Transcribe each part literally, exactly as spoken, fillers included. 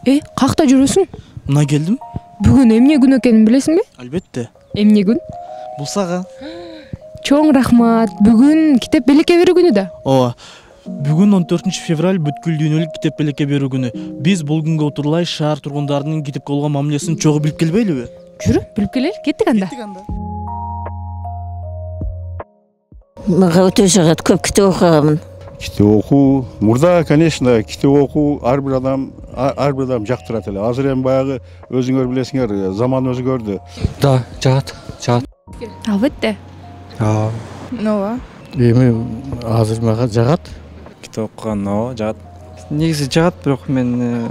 Э, какта жүрөсүң? Мына келдим. Бүгүн эмне күн экенин билесиңби? Албетте. Эмне күн? Бул сага. Чоң рахмат. Бүгүн китеп белекке берүү күнү да. Ооба. Бүгүн он төртүнчү февраль бүткүл дүйнөлүк китеп белекке берүү күнү. Биз бул күнгө отурлай шаар тургундарынын китепке болгон мамилесин чогуу билип келбейлиби? Жүрү, билип келели. Кеттик анда. Кеттик анда. Мага өтө жагат, көп китеп окугамын. Китеп окуу, мурда, конечно, китеп окуу ар бир адам, ар бир адам жактырат эле. Азыр эми баягы өзүңөр билесиңер, заман өзгөрдү. Да, жагат, жагат. Албетте. Ооба. Ооба. Эми азыр мага жагат. Китеп окуган ооба жагат. Негизи жагат, бирок мен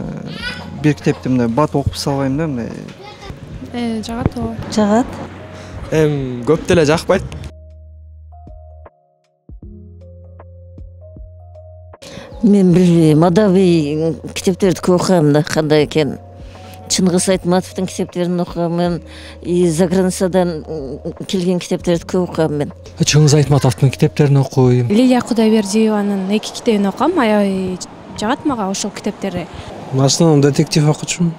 бир китепти мындай бат окуп салбайм да, мындай. Э, жагат ооба. Жагат. Эм көп деле жакпайт. Мен билбейм, адабий китептерди көп окугам да, кандай экен. Чыңгыз Айтматовдун китептерин окугам, и заграницадан келген китептерди көп окугам мен. Чыңгыз Айтматовдун китептерин окуйм. Лилия Кудайбердиеванын эки китебин окугам, аябай жагат мага ошол китептери. В основном детектив окучумун.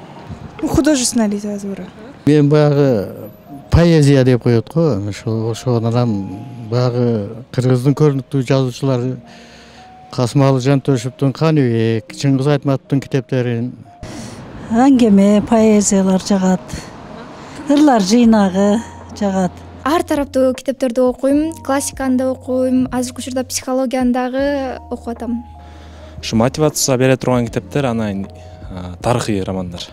Художественная литература. Мен баягы поэзия деп коет го, ошо ошондан баягы кыргыздын көрүнүктүү жазуучулары Касымалы Жантөшевдун Каныбек, Чыңгыз Айтматовдун китептерин, Аңгеме, поэзиялар жагат. Ырлар жыйнагы жагат. Ар тараптуу китептерди окуйм, классиканы да окуйм, азыркы учурда психологияны дагы окуп атам. Ушу мотивация бере турган китептер, анан тарыхый романдар.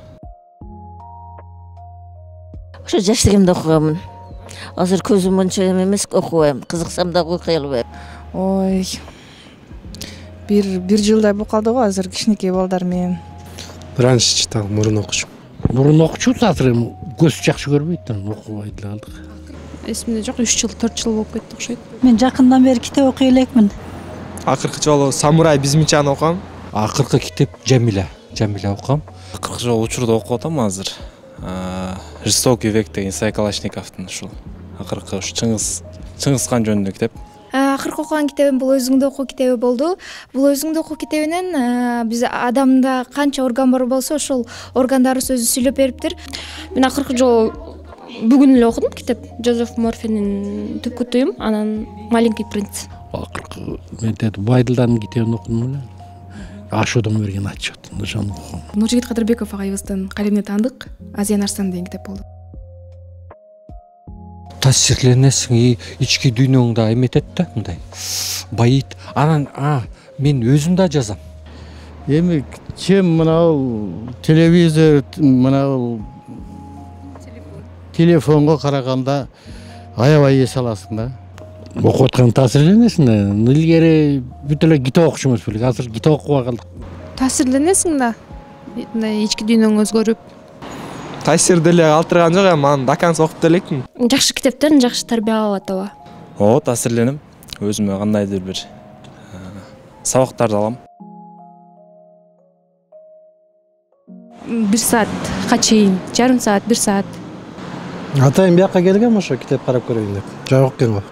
Ошо жаштыгымда окугамын. Азыр көзүм монча эмес, окубайм, кызыксам дагы окуй албайм. Ой. Бир бир жылдай болуп калды го, азыр кичинекей балдар менен. Раньше читал, мурун окучум. Мурун окучубуз, азыр эми көз жакшы көрбөйт да, окубай деле калдык. Эсимде жок, үч жыл, төрт жыл болуп кетти окшойт. Мен жакындан бери китеп окуй элекмин. Акыркы жолу Самурай Бизмичаны окугам. Акыркы китеп Жамиля, Жамиля окугам. Акыркы жолу учурда окуп атам азыр. Жестокий век деген Исай Калашниковдун ушул акыркы ушу Чыңгыз Чыңгыз хан жөнүндө китеп. Акыркы окуган китебим бул өзүңдү окуу китеби болду. Бул өзүңдү окуу китебинен биз адамда канча орган бар болсо, ошол органдарыбыз өзү сүйлөп бериптир. Мен акыркы жолу бүгүн эле окудум китеп. Жозеф Морфинин Түпкү туюм, анан Маленький принц. Акыркы мен Байдылдардын китебин окудум эле. Ашуудон берген отчет, ошону окудум. Нуржигит Кадырбеков агайыбыздын калемине таандык Азия Арстан деген китеп болду. Таасирленесиң, ички дүйнөңдү эметет да, мындай байыйт. Анан а мен өзүм да жазам. Эми чем мынау телевизор, мынау телефонго караганда аябай эс аласың да. Окуп аткан таасирленесиң да. Илгери бүт эле китеп окучу эмес белек, азыр китеп окубай калдык. Таасирленесиң да. Мындай ички дүйнөң өзгөрүп. Таасир деле калтырган жок, эми аны даканс окуп делекмин. Жакшы китептен жакшы тарбия алат ооба. Ооба, таасирленем. Өзүмө кандайдыр бир сабактарды алам. Бир саатка чейин, жарым саат, бир саат. Атайын бияка келгем ошо китеп карап көрөйүн деп. Жабык экен го.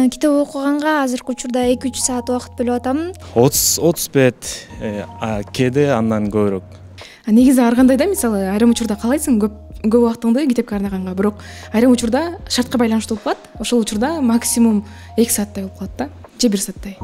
Китеп окуганга азыркы учурда эки үч саат убакыт бөлүп атам. отуз отуз бет кээде андан көбүрөөк. Негизи ар кандай да, мисалы, айрым учурда каалайсың көп көп убактыңды китепке арнаганга, бирок айрым учурда шартка байланыштуу болуп калат. Ошол учурда максимум эки сааттай болуп калат да, же бир сааттай.